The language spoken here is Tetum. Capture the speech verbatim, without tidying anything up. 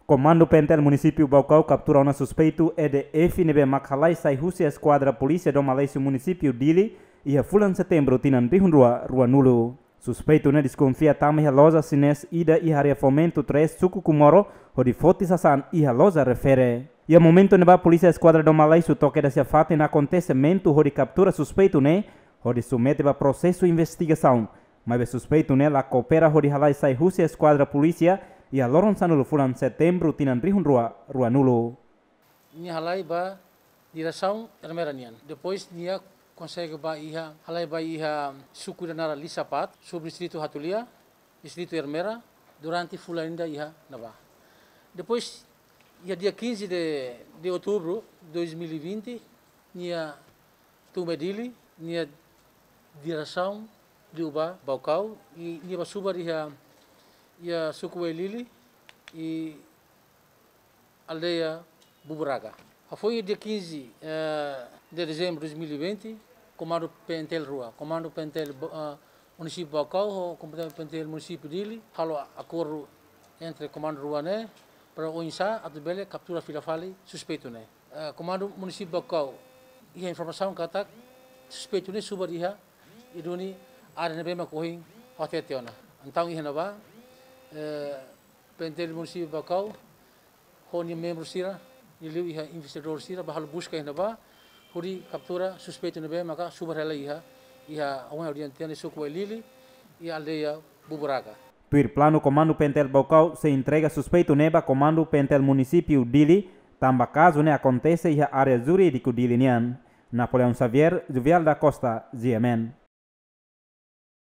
Komandu P N T L Munisípiu Baucau kaptura ona suspeitu E D F ne'ebé mak halai sai husi eskuadra polísia Dom Aleixo, Munisípiu Dili, iha fulan Setembru tinan rihun rua ruanulu. Suspeitu ne'e deskonfia tama iha loja xinés ida iha área Fomento três, suku Comoro, hodi foti sasán iha loja refere. Iha momentu ne'ebá, polísia eskuadra Dom Aleixo to'o kedas iha fatin akontesimentu hodi kaptura suspeitu ne'e, hodi submete ba prosesu investigasaun. Maibé suspeitu ne'e la koopera hodi halai sai husi eskuadra polísia iha loron sanulu fulan Setembru tinan rihun rua ruanulu. Nia halai ba diresaun Ermera nian. Depois nia konsege ba iha, halai ba iha suku ida naran Lisapat, subdistritu Hatulia, distritu Ermera, durante fulan ida iha ne'ebá. Depois, iha dia quinze de, de outubro de dois mil e vinte, nia tun ba Dili, nia diresaun liu ba Baucau, i nia ba subar iha, iha suku Wailili, i aldeia Buburaga. Hafoin dia quinze, eh, de dezembro de dois mil e vinte, Komandu P N T L rua, Komandu P N T L Ba-, ah, Munisípiu Baucau ho Komandu P N T L Munisípiu Dili halo akordu entre komandu rua ne'e para oinsá atu bele kaptura fila fali suspeitu ne'e. Eh, Komandu Munisípiu Baucau iha informasaun katak suspeitu ne'e subar iha, i duni área ne'ebé mak ohin ha'u hatete ona. Entaun iha ne'ebá, eh, P N T L Munisípiu Baucau ho nia membru sira, nia liu iha investigadór sira ba halo buska iha ne'ebá, hodi kaptura suspeitu ne'ebé maka subar hela iha, iha ohin ha'u dehan tiha ona, suku Wailili, iha aldeia Buburaga. Tuir planu, Komandu P N T L Baucau sei entrega suspeitu ne'e ba Komandu P N T L Munisípiu Dili, tanba kazu ne'e akontese iha área jurídiku Dili nian. Napoleão Xavier, Juvial da Costa, G M N.